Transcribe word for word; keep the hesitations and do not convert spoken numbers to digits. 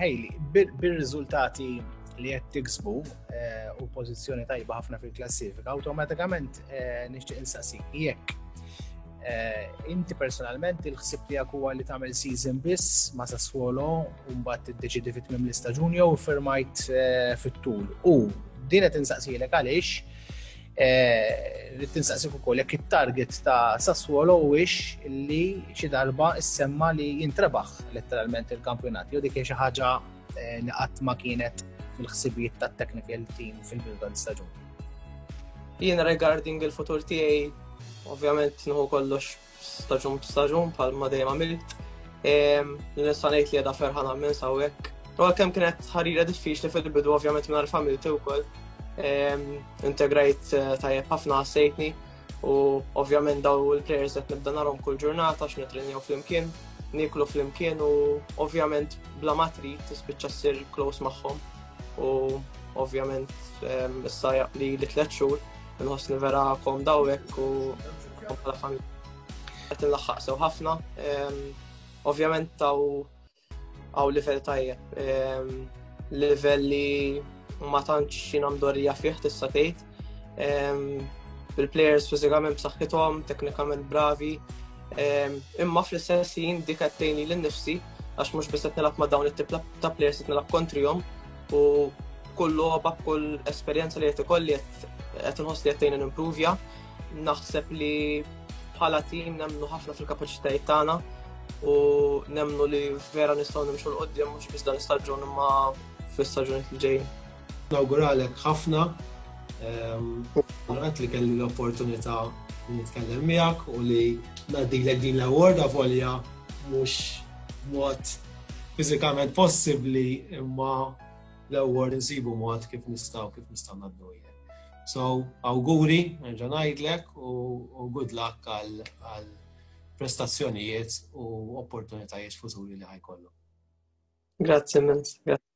Hayley, bir-riżultati li qed tiksbu eh, u pożizzjoni tajba ħafna fil-klassifika, awtomatikament eh, nixtieq insaqsik jekk eh, inti personalment il-ħsib tiegħek huwa li tagħmel season biss ma' Sassuolo u mbagħad tiddeċidi fit tmiem l-istaġun jew firmajt fit-tul. U din qed insaqsilek għaliex rrid tinsaqsik ukoll jekk it-target ta' Sassuolo huwiex li xi darba issemma li jintrebaħ letteralment il-kampjonat. Jew dik hija xi ħaġa li qatt ma kienet fil-ħsibijiet tat-technical team fil-bidu tal-istaġun. Jiena regarding il-futur tiegħi, ovvjament nieħu kollox staġun b'staġun bħalma dejjem għamilt. Nista' ngħid li qiegħda ferħana minn hawnhekk. U għalkemm kienet ħarira diffiċli fil-bidu, ovvjament, mingħajr familti wkoll. Integrajt eh, tajjeb ħafna, ħassejtni, u ovvjament daw il-players qed nibda narhom kull ġurnata għax nitrenjaw flimkien, nieklu flimkien u ovvjament bla ma trid tispiċċa ssir close magħhom u ovvjament issa li li tliet xhur nħossni vera komda hawnhekk u bħala familja. Qed nlaħħaq sew ħafna. Ovvjament taw għaw livell tajjeb. Livell li ma tantx jiena mdorrija fih, tista' tgħid. Bil-players fiżikament b'saħħithom, teknikament bravi. Imma fl-istess ħin dik qed tgħinni lil nifsi għax mhux biss qed nilgħab ma' dawn it-tip ta' players, qed nilgħab kontrihom u kull logħba, kull esperjenza li qed ikolli qed inħoss li qed tgħinni nimprovja. Naħseb li bħala team nemmnu ħafna fil-kapaċitajiet tagħna u nemmnu li vera nistgħu nimxu 'l quddiem mhux biss dan istaġun imma fl-istaġun li ġejjin. Nawguralek ħafna. Għat li kelli l-opportunità li nitkellem miegħek u li ngħaddilek din l-award, avolja mhux mod fiżikament possibbli, imma l-award nsibu mod kif nistgħu kif nistgħu ngħaddu. So, awguri, nerġa' ngħidlek u good luck għal prestazzjonijiet u opportunitajiet futuri li ħa jkollu. Grazzi immens. Grazzi.